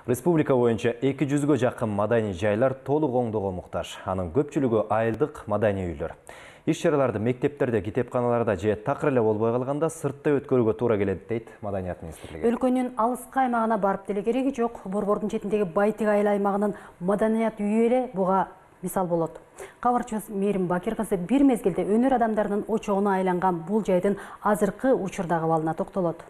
Республика боюнча 200-гө жакын маданий жайлар толук оңдоого муктаж. Анын көпчүлүгү айылдык маданий үйлөр. Иш-чараларды мектептерде, китепканаларда же такыр эле болбой калганда сыртта өткөрүүгө туура келет дейт Маданият министрлиги. Өлкөнүн алыскы аймагына барып деле кереги жок. Борбордун четиндеги Байтык айыл аймагынын маданият үйү эле буга мисал болот. Кабарчыбыз Мээрим Бакир кызы бир мезгилде өнөр адамдарынын очогуна айланган бул жайдын азыркы учурдагы абалына токтолот.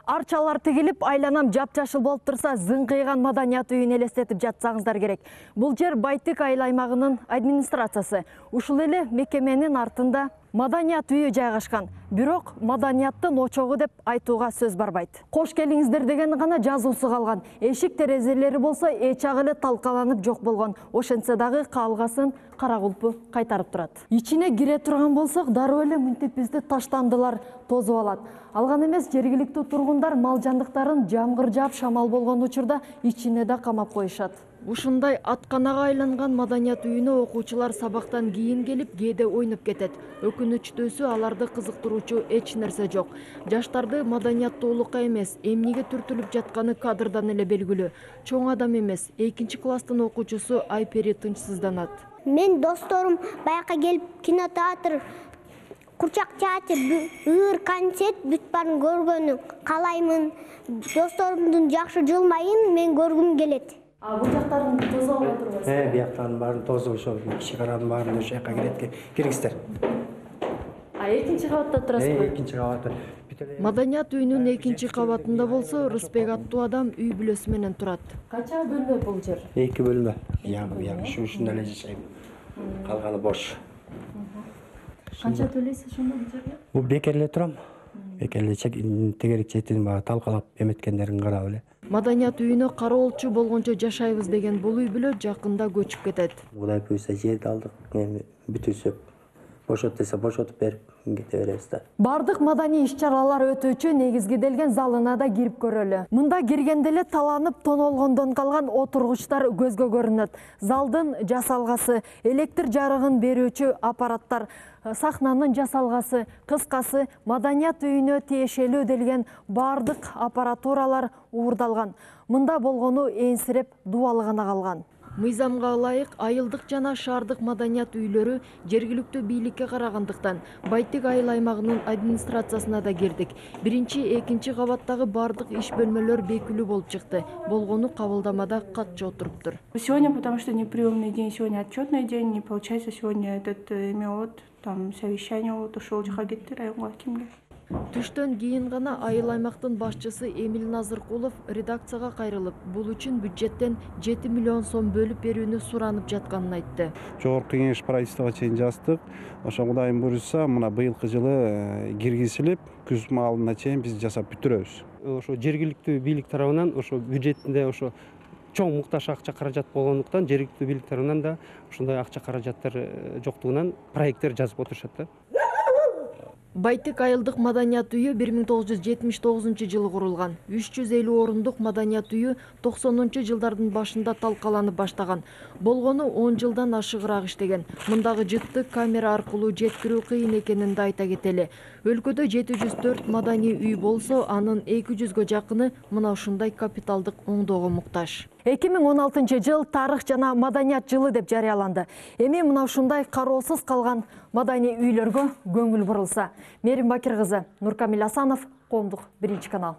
Арчалар тигилип, айланам жап-жашыл болуп турса, зыңкыйган маданият үйүн элестетип жатсаңыздар керек. Бул жер Байтык айыл аймагынын администрациясы. Ушул эле мекеменин артында маданият үйү жайгашкан. Бирок маданияттын очогу деп айтууга сөз барбайт. Кош келиңиздер деген гана жазуусу калган. Эшик терезелери болсо эч ак эле талкаланып жок болгон. Ошентсе дагы калгасын кара кулпу кайтарып турат. Ичине кире турган болсок, дароо эле мынтип бизди таштандылар тозуп алат. Алган эмес, жергиликтүү тургундар мал жандыктарын жамгыр жаап шамал болгон учурда ичине да камап коюшат. Ушундай атканага айланган маданият үйүнө окуучулар сабактан кийин келип, кээде ойноп кетет. Өкүнүчтүүсү, аларды кызыктыруучу эч нерсе жок. Жаштарды маданияттуулукка эмес, эмнеге түртүлүп жатканы кадырдан эле белгилүү. Чоң адам эмес, 2-класстын окуучусу Айпери тынчсызданат. Мен досторум баякка келип кинотеатр, курчак театр, ыр концерт бүт баарын көргөнү каалаймын. Досторумдун жакшы жылмайын мен көргүм келет. Бул жактарын тозуп алып турбайсызбы? Бияктарын баарын тозуп, ошол кичи каранын баарын ошол жака киргиздер. 2-кабатта турасызбы? 2-кабатта. Маданият үйүнүн 2-кабатында болсо, Рыспек аттуу адам үй бүлөсү менен турат. Канча бөлмө бул жер? 2 бөлмө. Ушунда эле жашайм. Калганы бош. Канча төлөйсүз ошондо бул жерге? Бул бекерле турам. Бекерле тегерек четин талкалап эметкендерин карап эле. Маданият үйүнө кароолчу болгончо жашайбыз деген бул үй бүлө жакында көчүп кетет. Кудай буйрса жерди алдык, бүтүрсөк бошот десе бошотуп берип кете беребиз да. Бардык маданий иш-чаралар өтүүчү негизгиделген залына да кирип көрөлү. Мында киргенде эле таланып тонолгондон калган отургучтар көзгө көрүнөт. Залдын жасалгасы, электр жарыгын берүүчү аппараттар, сахнанын жасалгасы, кыскасы маданият үйүнө тиешелүү делген бардык аппаратуралар уурдалган. Мында болгону энсиреп дубалы гана калган. Мыйзамга ылайык айылдык жана шаардык маданият үйлөрү жергиликтүү бийликке карагандыктан Байтык айыл аймагынын администрациясына да кирдик. 1-2 кабаттагы бардык иш бөлмөлөр бекилүү болуп чыкты. Болгону кабылдамада катчы отуруптур. Сегодня, потому что не приемный день, сегодня отчетный день, не получается сегодня там совещание ушул жака кетти районго кимге. Түштөн кийин гана айыл аймактын башчысы Эмил Назыркулов редакцияга кайрылып, бул үчүн бюджеттен 7 миллион сом бөлүп берүүнү суранып жатканын айтты. Жогорку кеңеш правительствого чейин жаздык. Ошо Кудайым буйрса, мына быйылкы жылы киргизилип, күз маалына чейин биз жасап бүтүрөбүз. Ошо жергиликтүү бийлик тарабынан ошо бюджетинде ошо чоң муктаж акча каражат болгондуктан жергиликтүү бийлик тарабынан да ушундай акча каражаттар жоктугунан проекттер жазып отурушат да. Байтык айылдык маданият үйү 1979 жылы курулган. 350 орундук маданият үйү 90 жылдардын башында талкаланып баштаган. Болгону 10 жылдан ашыгыраак иштеген. Мындагы жытты камера аркылуу жеткирүү кыйын экенин да айта кетели. Өлкөдө 704 маданий үй болсо, анын 200гө жакыны мына ушундай капиталдык оңдоого муктаж. 2016 жыл тарых жана маданият жылы деп жарыяланды. Эми мына ушундай кароосуз калган маданий үйлөргө көңүл бурулса. Мээрим Бакир кызы, Нуркамил Асанов, Коомдук 1 канал.